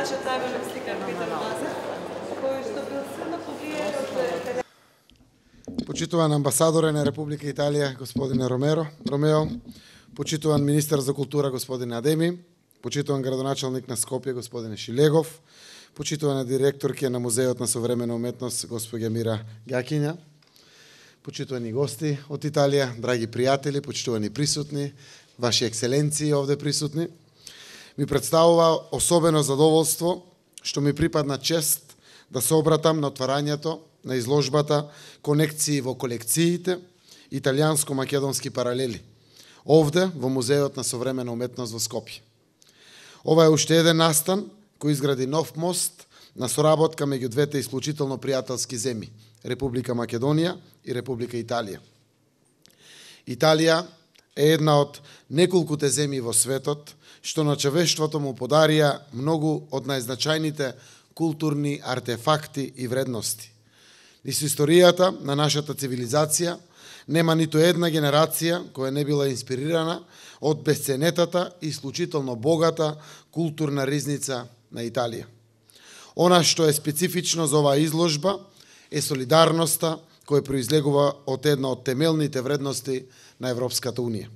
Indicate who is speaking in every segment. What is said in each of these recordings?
Speaker 1: нашиот најважен сликар Петар Лазар, кој што бил силно повлијан од
Speaker 2: Почитуван амбасадоре на Република Италија, господине Ромео, почитуван министер за култура, господине Адеми, почитуван градоначалник на Скопје, господине Шилегов, почитувана директорке на Музеот на современа уметност, господја Мира Гакиња, почитувани гости од Италија, драги пријатели, почитувани присутни, ваши екселенции овде присутни, ми представува особено задоволство што ми припадна чест да се обратам на отварањето на изложбата Конекции во колекциите, италијанско-македонски паралели, овде во Музеот на современа уметност во Скопје. Ова е уште еден настан кој изгради нов мост на соработка меѓу двете исклучително пријателски земји, Република Македонија и Република Италија. Италија е една од неколкуте земји во светот што на човештвото му подарија многу од најзначајните културни артефакти и вредности. Низ историјата на нашата цивилизација нема ниту една генерација која не била инспирирана од бесценетата и исклучително богата културна ризница на Италија. Она што е специфично за оваа изложба е солидарноста која произлегува од една од темелните вредности на Европската Унија.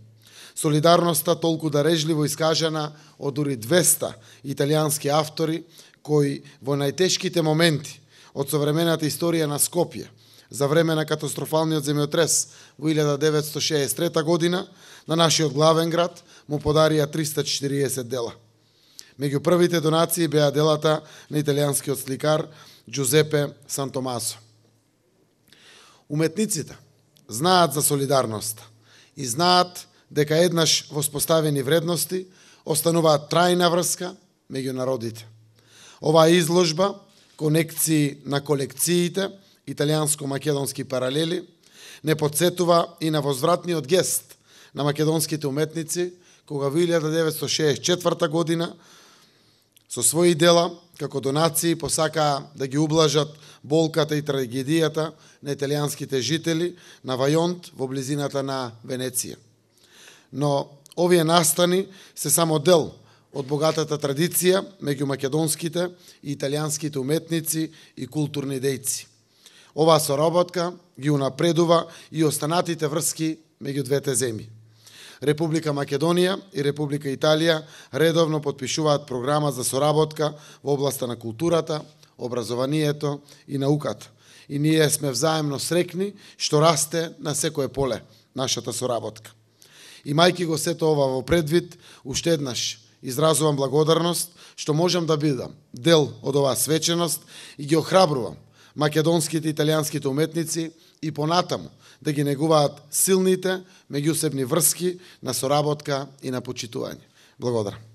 Speaker 2: Солидарноста толку дарежливо искажана од дури 200 италијански автори кои во најтешките моменти од современата историја на Скопје за време на катастрофалниот земјотрес во 1963 година на нашиот главен град му подарија 340 дела. Меѓу првите донации беа делата на италијанскиот сликар Джузепе Сантомасо. Уметниците знаат за солидарноста и знаат дека еднаш воспоставени вредности остануваат трајна врска меѓу народите. Оваа изложба Конекции на колекциите, италијанско-македонски паралели, не подсетува и на возвратниот гест на македонските уметници, кога во 1964 година со своји дела, како донации, посакаа да ги ублажат болката и трагедијата на италијанските жители на Вајонт во близината на Венеција. Но овие настани се само дел од богатата традиција меѓу македонските и италијанските уметници и културни дејци. Оваа соработка ги унапредува и останатите врски меѓу двете земји. Република Македонија и Република Италија редовно потпишуваат програма за соработка во областа на културата, образованието и науката. И ние сме взаемно срекни што расте на секое поле нашата соработка. Имајќи го сето ова во предвид, уште еднаш изразувам благодарност што можам да бидам дел од оваа свеченост и ги охрабрувам македонските и италијанските уметници и понатаму да ги негуваат силните меѓусебни врски на соработка и на почитување. Благодарам.